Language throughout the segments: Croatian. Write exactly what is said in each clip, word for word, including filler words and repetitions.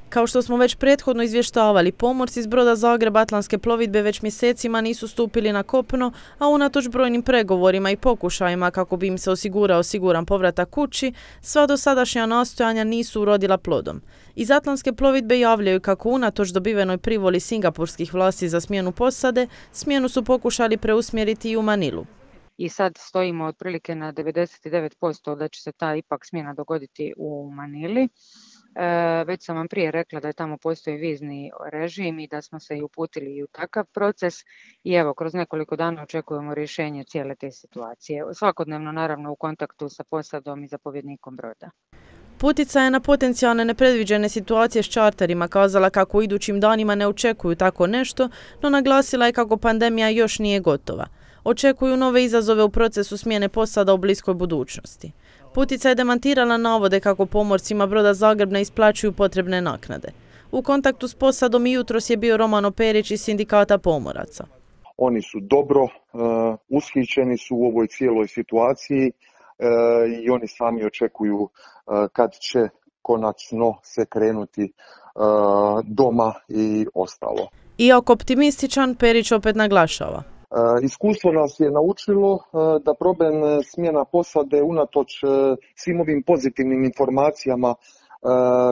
Kao što smo već prethodno izvještavali, pomorci iz broda Zagreb Atlantske plovidbe već mjesecima nisu stupili na kopno, a unatoč brojnim pregovorima i pokušajima kako bi im se osigurao siguran povratak kući, sva dosadašnja nastojanja nisu urodila plodom. Iz Atlantske plovidbe javljaju kako unatoč dobivenoj privoli singapurskih vlasti za smjenu posade, smjenu su pokušali preusmjeriti i u Manilu. I sad stojimo otprilike na devedeset devet posto da će se ta ipak smjena dogoditi u Manili. E, već sam vam prije rekla da je tamo postoji vizni režim i da smo se i uputili i u takav proces i evo, kroz nekoliko dana očekujemo rješenje cijele te situacije. Svakodnevno naravno u kontaktu sa posadom i zapovjednikom broda. Putica je na potencijalne nepredviđene situacije s čarterima kazala kako u idućim danima ne očekuju tako nešto, no naglasila je kako pandemija još nije gotova. Očekuju nove izazove u procesu smjene posada u bliskoj budućnosti. Putica je demantirala navode kako pomorcima broda Zagreb ne isplaćuju potrebne naknade. U kontaktu s posadom i jutros je bio Romano Perić iz Sindikata pomoraca. Oni su dobro uh, ushićeni su u ovoj cijeloj situaciji uh, i oni sami očekuju uh, kad će konačno se krenuti uh, doma i ostalo. Iako optimističan, Perić opet naglašava. Uh, iskustvo nas je naučilo uh, da problem smjena posade unatoč uh, svim ovim pozitivnim informacijama uh,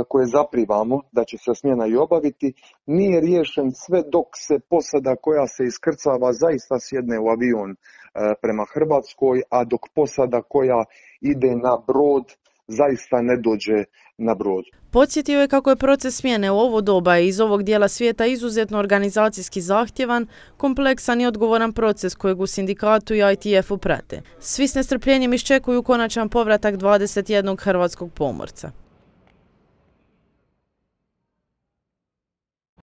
koje zaprivamo da će se smjena i obaviti, nije riješen sve dok se posada koja se iskrcava zaista sjedne u avion uh, prema Hrvatskoj, a dok posada koja ide na brod zaista ne dođe na brod. Podsjetio je kako je proces smjene u ovo doba i iz ovog dijela svijeta izuzetno organizacijski zahtjevan, kompleksan i odgovoran proces kojeg u sindikatu i I T F-u prate. Svi s nestrpljenjem iščekuju konačan povratak dvadeset jednog hrvatskog pomorca.